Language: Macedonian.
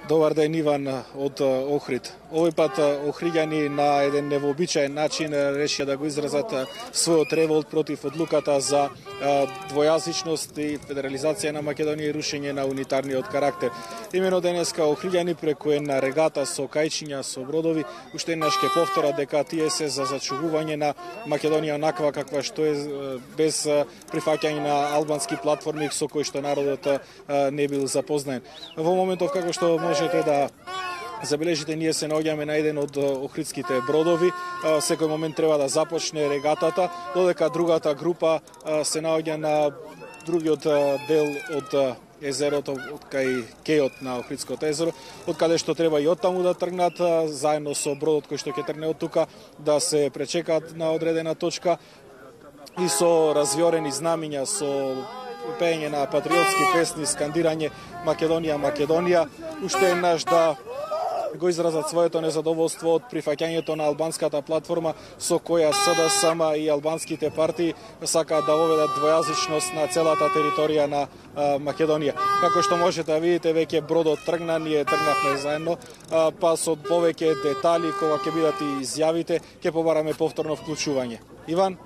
Добар ден, Иван од Охрид. Овој пат охриѓани на еден невообичаен начин решија да го изразат својот револт против одлуката за двојазичност и федерализација на Македонија и рушење на унитарниот карактер. Имено денеска охриѓани преку една регата со кајчиња, со бродови, уште еднаш ќе повторат дека тие се за зачувување на Македонија онаква каква што е, без прифаќање на албански платформи со кои што народот не бил запознаен. Во моментов како што можете да забележите, ние се наоѓаме на еден од охридските бродови. Секој момент треба да започне регатата, додека другата група се наоѓа на другиот дел од езерото, од кај кејот на Охридското езеро, од каде што треба и оттаму да тргнат, заедно со бродот кој што ќе тргне од тука, да се пречекаат на одредена точка и со развиорени знамиња, со пеење на патриотски песни, скандирање Македонија, Македонија, уште еднаш да го изразат своето незадоволство од прифаќањето на албанската платформа со која СДСМ и албанските партии сакаат да воведат двојазичност на целата територија на Македонија. Како што можете да видите, веќе бродот тргна, ние тргнавме заедно, па со повеќе детали кога ќе бидат и изјавите, ќе побараме повторно вклучување. Иван?